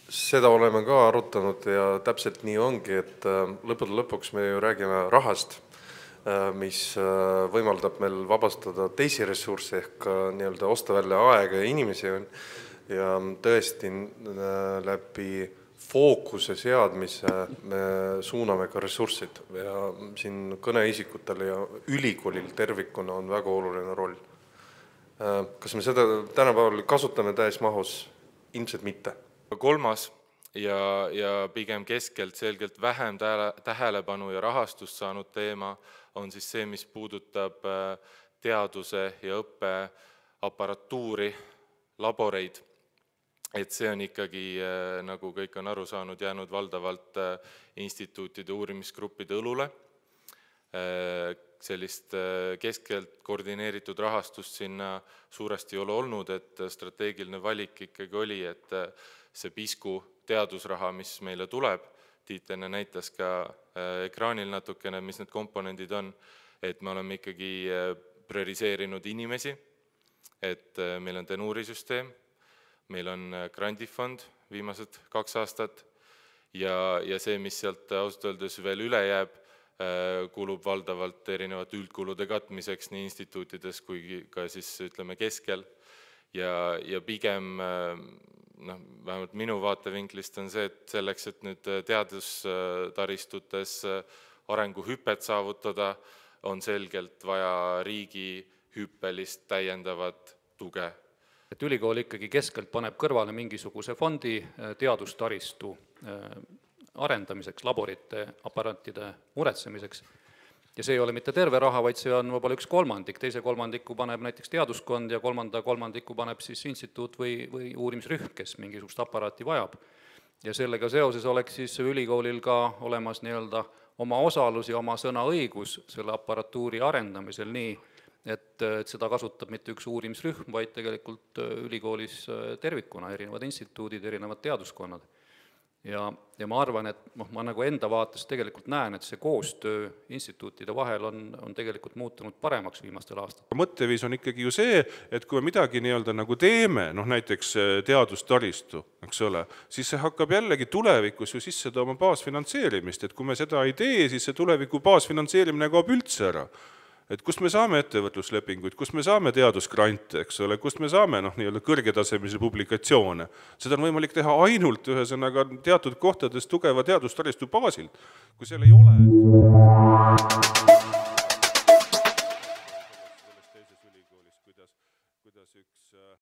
Seda oleme ka arutanud ja täpselt nii ongi, et lõppude lõpuks me ju räägime rahast, mis võimaldab meil vabastada teisi ressursse ehk nii-öelda osta välja aega ja inimesi ja tõesti läbi fookuse seadmise me suuname ka ressurssid ja siin kõneisikutel ja ülikoolil tervikuna on väga oluline roll. Kas me seda tänapäeval kasutame täismahus? Ilmselt mitte. Kolmas ja pigem keskelt selgelt vähem tähelepanu ja rahastust saanud teema on siis see, mis puudutab teaduse ja õppe aparatuuri, laboreid. Et see on ikkagi, nagu kõik on aru saanud, jäänud valdavalt instituutide uurimisgruppide õlule. Sellist keskelt koordineeritud rahastust sinna suuresti ei ole olnud, et strateegiline valik ikkagi oli, et see pisku teadusraha, mis meile tuleb, Tiit enne näitas ka ekraanil natukene, mis need komponendid on, et me oleme ikkagi prioriseerinud inimesi, et meil on tenuurisüsteem, meil on grandifond viimased 2 aastat ja see, mis sealt ausalt öeldes veel üle jääb, kulub valdavalt erinevate üldkulude katmiseks nii instituutides kui ka siis ütleme keskel ja pigem vähemalt minu vaatevinklist on see, et selleks, et nüüd teadustaristutes arenguhüpet saavutada, on selgelt vaja riigi hüppelist täiendavat tuge. Et ülikool ikkagi keskelt paneb kõrvale mingisuguse fondi teadustaristu arendamiseks, laborite, aparaatide muretsemiseks. Ja see ei ole mitte terve raha, vaid see on võib-olla 1/3, teise kolmandiku paneb näiteks teaduskond ja kolmandiku paneb siis instituut või uurimisrühm, kes mingisugust aparaati vajab. Ja sellega seoses oleks siis ülikoolil ka olemas nii-öelda oma osalus ja oma sõnaõigus selle aparatuuri arendamisel nii, et seda kasutab mitte üks uurimisrühm, vaid tegelikult ülikoolis tervikuna, erinevad instituudid, erinevad teaduskonnad. Ja ma arvan, et ma nagu enda vaates tegelikult näen, et see koostöö instituutide vahel on tegelikult muutunud paremaks viimastel aastatel. Mõtteviis on ikkagi ju see, et kui me midagi nii-öelda nagu teeme, näiteks teadustaristu, eks ole, siis see hakkab jällegi tulevikus ju sisse tooma baasfinantseerimist, et kui me seda ei tee, siis see tuleviku baasfinantseerimine kaob üldse ära. Et kust me saame ettevõtluslepinguid, kust me saame teadusgrante, eks ole, kust me saame nii-öelda kõrgetasemelisi publikatsioone. Seda on võimalik teha ainult ühesõnaga teatud kohtades tugeva teadustaristu baasilt. Kui seal ei ole...